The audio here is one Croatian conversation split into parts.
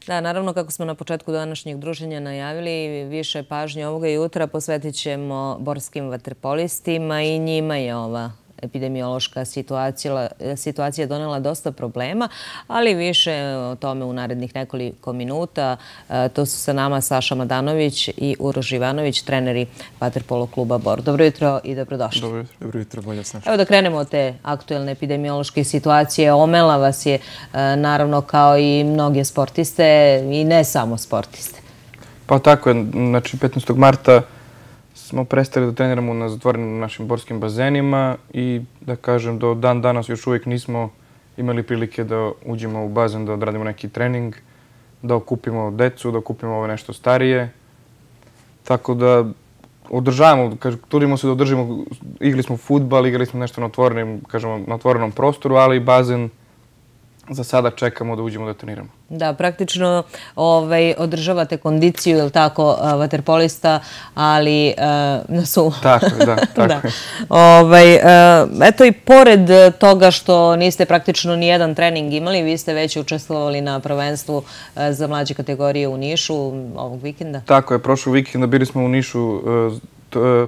Da, naravno, kako smo na početku današnjeg druženja najavili, više pažnje ovoga jutra posvetit ćemo borskim vaterpolistima i njima je ova epidemiološka situacija donela dosta problema, ali više o tome u narednih nekoliko minuta. To su sa nama Saša Madanović i Uroš Ivanović, treneri vaterpolo kluba Bor. Dobro jutro i dobrodošli. Dobro jutro. Dobro jutro, bolje Saša. Evo da krenemo od te aktuelne epidemiološke situacije. Omela vas je, naravno, kao i mnoge sportiste i ne samo sportiste. Pa tako je. Znači, 15. marta smo prestali da treniramo na zatvorenim našim borskim bazenima i da kažem do dan danas još uvijek nismo imali prilike da uđemo u bazen, da odradimo neki trening, da okupimo decu, da okupimo ove nešto starije. Tako da održavamo, trudimo se da održimo, igrali smo fudbal, igrali smo nešto na otvorenom prostoru, ali bazen za sada čekamo da uđemo da treniramo. Da, praktično održavate kondiciju, je li tako, vaterpolista, ali na suvo. Tako je, da, tako je. Eto i pored toga što niste praktično ni jedan trening imali, vi ste već učestvovali na prvenstvu za mlađe kategorije u Nišu ovog vikenda. Tako je, prošlog vikenda bili smo u Nišu,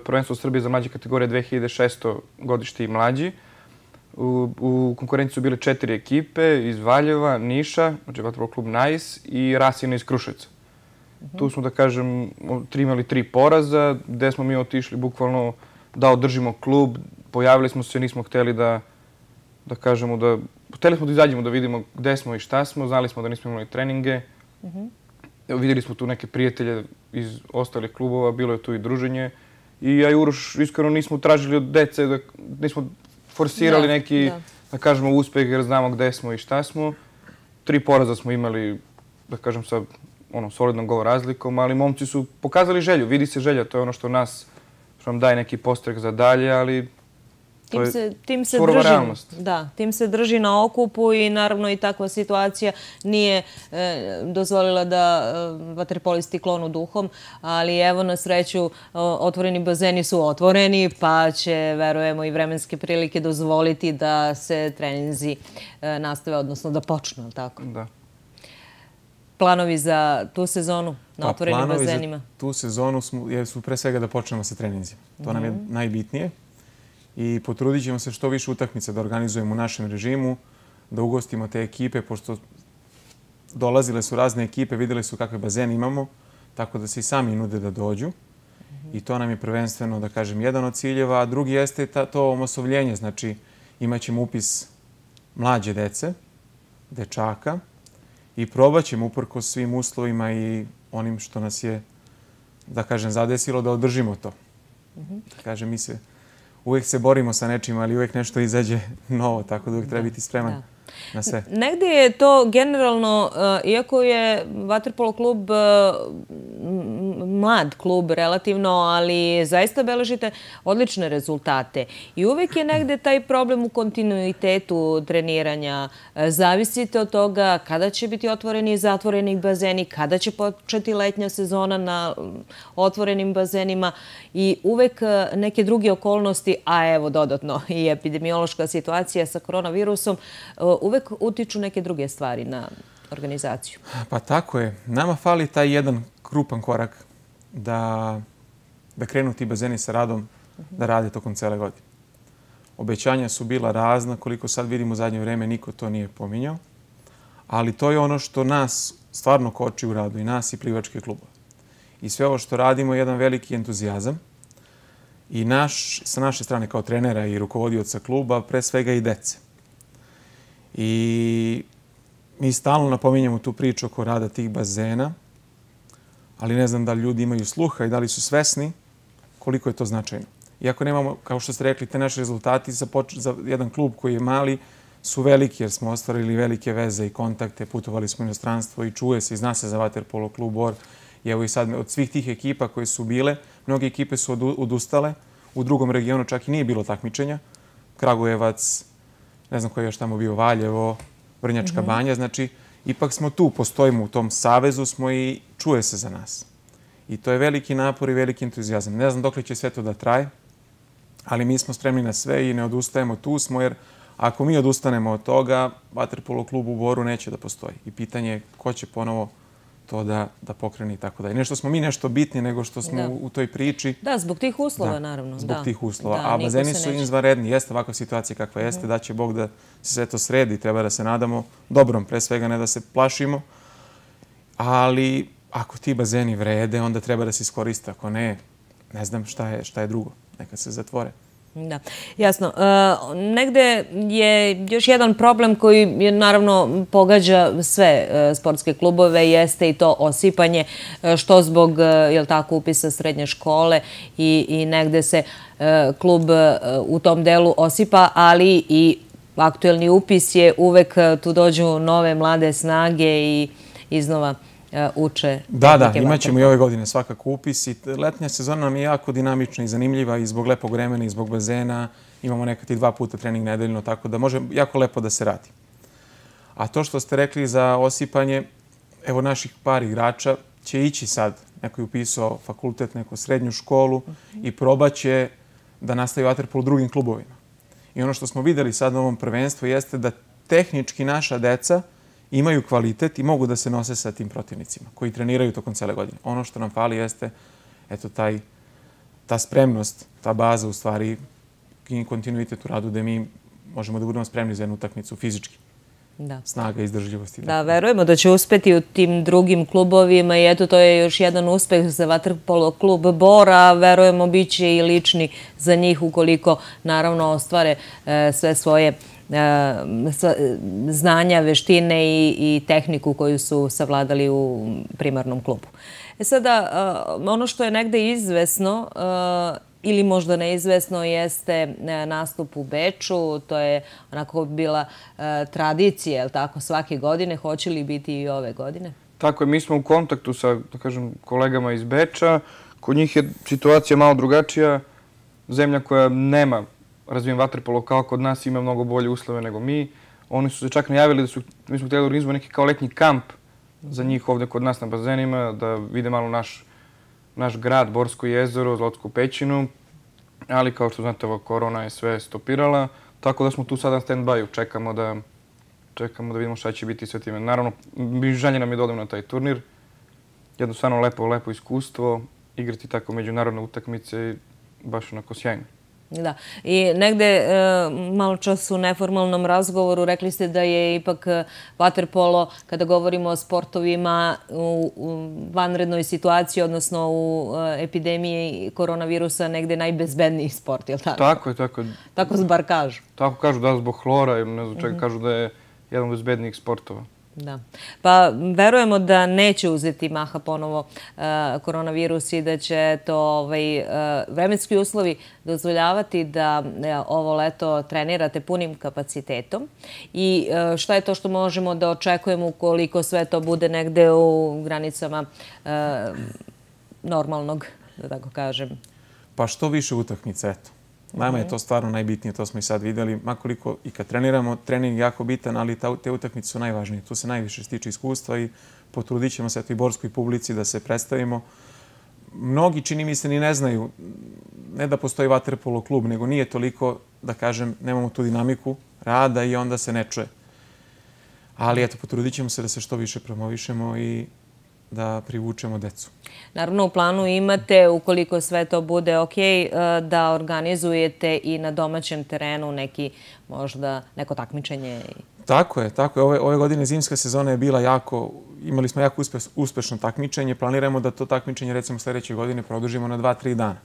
prvenstvo Srbije za mlađe kategorije 2600 godište i mlađi. U konkurenciji su bile 4 ekipe iz Valjeva, Niša, znači vaterpolo klub Nice i Rasina iz Kruševca. Tu smo, da kažem, imali 3 poraza, gde smo mi otišli bukvalno da održimo klub. Pojavili smo se, nismo hteli da kažemo da... Hteli smo da izađemo da vidimo gde smo i šta smo, znali smo da nismo imali treninge. Vidjeli smo tu neke prijatelje iz ostalih klubova, bilo je tu i druženje. I ja i Uroš iskreno nismo tražili od dece, nismo forsirali neki, da kažemo, uspeh jer znamo gde smo i šta smo. 3 poraza smo imali, da kažem, sa solidnom gol razlikom, ali momci su pokazali želju, vidi se želja, to je ono što nam daje neki postrek za dalje, ali to je surova realnost. Da, tim se drži na okupu i naravno i takva situacija nije dozvolila da vaterpolisti klonu duhom, ali evo na sreću otvoreni bazeni su otvoreni pa će, verujemo, i vremenske prilike dozvoliti da se treninzi nastave, odnosno da počnu, ali tako? Da. Planovi za tu sezonu na otvorenim bazenima? Planovi za tu sezonu su pre svega da počnemo sa treninzima. To nam je najbitnije. I potrudit ćemo se što više utakmica da organizujemo u našem režimu, da ugostimo te ekipe, pošto dolazile su razne ekipe, vidjeli su kakve bazene imamo, tako da se i sami nude da dođu. I to nam je prvenstveno, da kažem, jedan od ciljeva, a drugi jeste to omasovljenje. Znači, imat ćemo upis mlađe dece, dečaka i probat ćemo uprkos svim uslovima i onim što nas je, da kažem, zadesilo da održimo to. Da kažem, uvijek se borimo sa nečim, ali uvijek nešto izađe novo, tako da uvijek treba biti spreman na sve. Negdje je to generalno, iako je vaterpolo klub mlad klub relativno, ali zaista beležite odlične rezultate. I uvijek je negdje taj problem u kontinuitetu treniranja. Zavisite od toga kada će biti otvoreni i zatvoreni bazeni, kada će početi letnja sezona na otvorenim bazenima i uvijek neke druge okolnosti, a evo dodatno i epidemiološka situacija sa koronavirusom, uvijek utiču neke druge stvari na organizaciju. Pa tako je. Nama fali taj jedan krupan korak da krenu ti bazeni sa radom, da rade tokom cele godine. Obećanja su bila razna, koliko sad vidimo u zadnje vreme, niko to nije pominjao. Ali to je ono što nas stvarno koči u radu, i nas i plivačke klubove. I sve ovo što radimo je jedan veliki entuzijazam. I sa naše strane kao trenera i rukovodioca kluba, pre svega i dece. I mi stalno napominjamo tu priču oko rada tih bazena, ali ne znam da li ljudi imaju sluha i da li su svesni koliko je to značajno. Iako nemamo, kao što ste rekli, te naše rezultati za jedan klub koji je mali su veliki jer smo ostvarili velike veze i kontakte, putovali smo u inostranstvo i čuje se i zna se za vaterpolo klub Bor. I evo i sad od svih tih ekipa koje su bile, mnoge ekipe su odustale, u drugom regionu čak i nije bilo takmičenja. Kragujevac, ne znam koji je još tamo bio, Valjevo, Vrnjačka Banja, znači ipak smo tu, postojimo u tom savezu smo i čuje se za nas. I to je veliki napor i veliki entuzijazam. Ne znam dokle će sve to da traje, ali mi smo spremni na sve i ne odustajemo, tu smo, jer ako mi odustanemo od toga, vaterpolo klub u Boru neće da postoji. I pitanje je ko će ponovo to da pokrene i tako dalje. Ne što smo mi nešto bitni, nego što smo u toj priči. Da, zbog tih uslova, naravno. Zbog tih uslova. A bazeni su izvanredni. Jeste ovakva situacija kakva jeste. Da će Bog da se sve to sredi. Treba da se nadamo dobrom, pre svega ne da se plašimo. Ali ako ti bazeni vrede, onda treba da se iskoriste. Ako ne, ne znam šta je drugo. Neka se zatvore. Da, jasno. Negde je još jedan problem koji naravno pogađa sve sportske klubove, jeste i to osipanje, što zbog upisa srednje škole i negde se klub u tom delu osipa, ali i aktuelni upis je uvek tu dođu nove mlade snage i iznova uče. Da, imat ćemo i ove godine svakako upis. Letnja sezona nam je jako dinamična i zanimljiva i zbog lepog vremena i zbog bazena. Imamo nekad i 2 puta trening nedeljno, tako da može jako lepo da se radi. A to što ste rekli za osipanje, evo naših par igrača će ići sad. Neko je upisao fakultet, neko srednju školu i probaće da nastavi vaterpolo u drugim klubovima. I ono što smo videli sad na ovom prvenstvu jeste da tehnički naša deca imaju kvalitet i mogu da se nose sa tim protivnicima koji treniraju tokom cele godine. Ono što nam fali jeste ta spremnost, ta baza u stvari i kontinuitet u radu gde mi možemo da budemo spremni za jednu utakmicu fizički. Snaga, izdržljivosti. Da, verujemo da će uspeti u tim drugim klubovima i eto, to je još jedan uspeh za vaterpolo klub Bor, a verujemo bit će i lični za njih ukoliko naravno ostvare sve svoje znanja, veštine i tehniku koju su savladali u primarnom klubu. Sada, ono što je negde izvesno ili možda neizvesno jeste nastup u Beču. To je onako bila tradicija, tako, svake godine. Hoće li biti i ove godine? Tako je, mi smo u kontaktu sa, da kažem, kolegama iz Beča. Kod njih je situacija malo drugačija. Zemlja koja nema razvijen vaterpolo kao kod nas, ima mnogo bolje uslove nego mi. Oni su se čak najavili da mi smo htjeli organizovati neki kao letnji kamp za njih ovdje kod nas na bazenima, da vide malo naš grad, Borsko jezero, Zlotsku pećinu, ali kao što znate, korona je sve stopirala, tako da smo tu sada na stand-by-u, čekamo da vidimo šta će biti sve time. Naravno, želje nam je da odemo na taj turnir, jednostavno lepo iskustvo, igrati tako međunarodne utakmice, baš onako sjajno. Da. I negde malo čas u neformalnom razgovoru rekli ste da je ipak vaterpolo, kada govorimo o sportovima u vanrednoj situaciji, odnosno u epidemiji koronavirusa, negde najbezbedniji sport, je li tako? Tako je, tako je. Tako bar kažu. Tako kažu, da, zbog hlora ili ne znam čega, kažu da je jedan od bezbednijih sportova. Da. Pa verujemo da neće uzeti maha ponovo koronavirus i da će to vremenski uslovi dozvoljavati da ovo leto trenirate punim kapacitetom. I šta je to što možemo da očekujemo ukoliko sve to bude negde u granicama normalnog, da tako kažem? Pa što više utakmica, eto. Nama je to stvarno najbitnije, to smo i sad vidjeli. Makoliko i kad treniramo, trening je jako bitan, ali te utakmice su najvažnije. Tu se najviše stiče iskustva i potrudit ćemo se i borskoj publici da se predstavimo. Mnogi, čini mi se, ni ne znaju, ne da postoji vaterpolo klub, nego nije toliko, da kažem, nemamo tu dinamiku rada i onda se ne čuje. Ali eto, potrudit ćemo se da se što više promovišemo i da privučemo decu. Naravno, u planu imate, ukoliko sve to bude ok, da organizujete i na domaćem terenu neko takmičenje. Tako je. Ove godine zimska sezona je bila imali smo jako uspešno takmičenje. Planiramo da to takmičenje, recimo, sljedeće godine produžimo na 2-3 dana.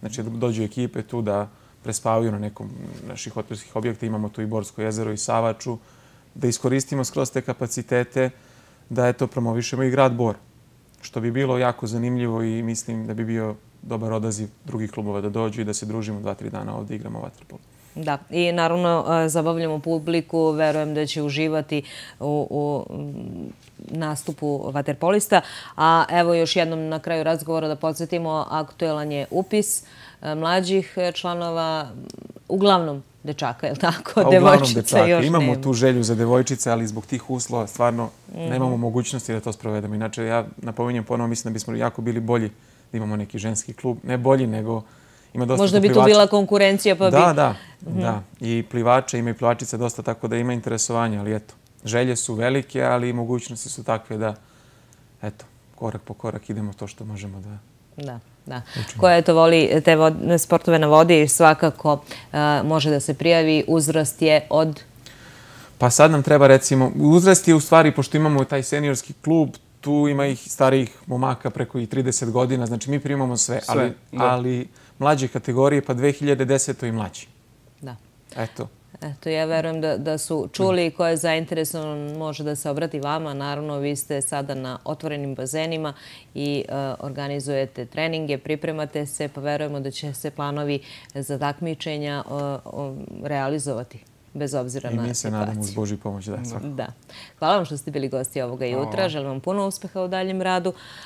Znači, da dođu ekipe tu da prespavaju na nekom naših hotelskih objekta. Imamo tu i Borsko jezero i Savaču. Da iskoristimo skroz te kapacitete, da promovišemo i grad Bor. Što bi bilo jako zanimljivo i mislim da bi bio dobar odaziv drugih klubova da dođu i da se družimo 2-3 dana ovdje igramo vaterpolo. Da, i naravno zabavljamo publiku, verujem da će uživati u nastupu vaterpolista. A evo još jednom na kraju razgovora da podsjetimo, aktuelan je upis mlađih članova, uglavnom dečaka, je li tako? Devojčica još nema. Imamo tu želju za devojčice, ali zbog tih uslova stvarno nemamo mogućnosti da to sprovedemo. Inače, ja napominjem ponovo, mislim da bismo jako bili bolji da imamo neki ženski klub. Ne bolji, nego ima dosta možda bi tu bila konkurencija, pa bi... Da. I plivača, ima i plivačica dosta, tako da ima interesovanja, ali eto. Želje su velike, ali i mogućnosti su takve eto, korak po korak idemo to što možemo da... Da. Koja eto voli te sportove na vodi, svakako može da se prijavi. Uzrast je od... Pa sad nam treba, recimo, uzrast je u stvari, pošto imamo taj seniorski klub, tu ima ih starijih momaka preko i 30 godina, znači mi primamo sve, ali mlađe kategorije, pa 2010. i mlađi. Da. Eto, ja verujem da su čuli i ko je zainteresovan može da se obrati vama. Naravno, vi ste sada na otvorenim bazenima i organizujete treninge, pripremate se, pa verujemo da će se planovi za takmičenja realizovati, bez obzira na situaciju. I mi se nadamo uz Božju pomoć, da, svakako. Da. Hvala vam što ste bili gosti ovoga jutra. Želim vam puno uspeha u daljem radu.